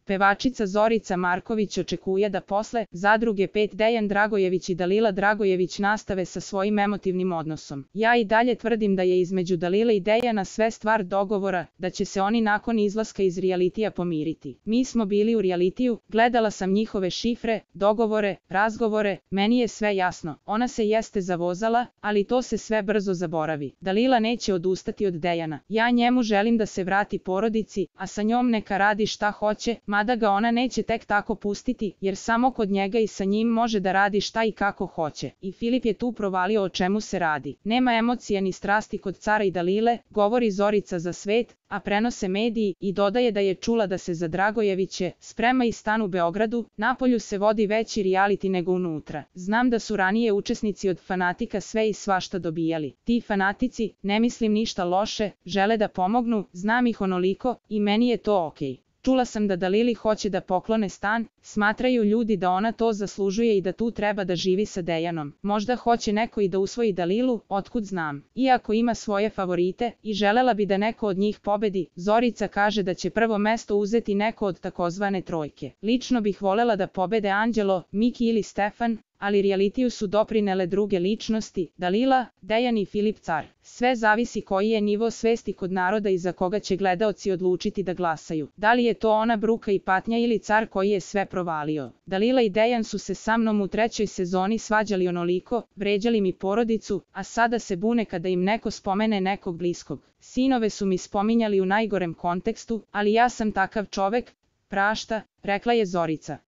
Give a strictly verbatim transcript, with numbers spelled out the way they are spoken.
Pevačica Zorica Marković očekuje da posle Zadruge pet Dejan Dragojević i Dalila Dragojević nastave sa svojim emotivnim odnosom. Ja i dalje tvrdim da je između Dalile i Dejana sve stvar dogovora, da će se oni nakon izlaska iz realitija pomiriti. Mi smo bili u realitiju, gledala sam njihove šifre, dogovore, razgovore, meni je sve jasno. Ona se jeste zavozala, ali to se sve brzo zaboravi. Dalila neće odustati od Dejana. Ja njemu želim da se vrati porodici, a sa njom neka radi šta hoće, mada ga ona neće tek tako pustiti, jer samo kod njega i sa njim može da radi šta i kako hoće. I Filip je tu provalio o čemu se radi. Nema emocija ni strasti kod Cara i Dalile, govori Zorica za svet, a prenose mediji, i dodaje da je čula da se za Dragojeviće sprema i stan u Beogradu. Napolju se vodi veći reality nego unutra. Znam da su ranije učesnici od fanatika sve i svašta dobijali. Ti fanatici, ne mislim ništa loše, žele da pomognu, znam ih onoliko, i meni je to okej. Čula sam da Dalili hoće da poklone stan, smatraju ljudi da ona to zaslužuje i da tu treba da živi sa Dejanom. Možda hoće neko i da usvoji Dalilu, otkud znam. Iako ima svoje favorite i želela bi da neko od njih pobedi, Zorica kaže da će prvo mesto uzeti neko od takozvane trojke. Lično bih volela da pobede Anđelo, Miki ili Stefan, ali realitiju su doprinele druge ličnosti, Dalila, Dejan i Filip Car. Sve zavisi koji je nivo svesti kod naroda i za koga će gledaoci odlučiti da glasaju. Da li je to ona bruka i patnja ili Car koji je sve provalio? Dalila i Dejan su se sa mnom u trećoj sezoni svađali onoliko, vređali mi porodicu, a sada se bune kada im neko spomene nekog bliskog. Sinove su mi spominjali u najgorem kontekstu, ali ja sam takav čovek, prašta, rekla je Zorica.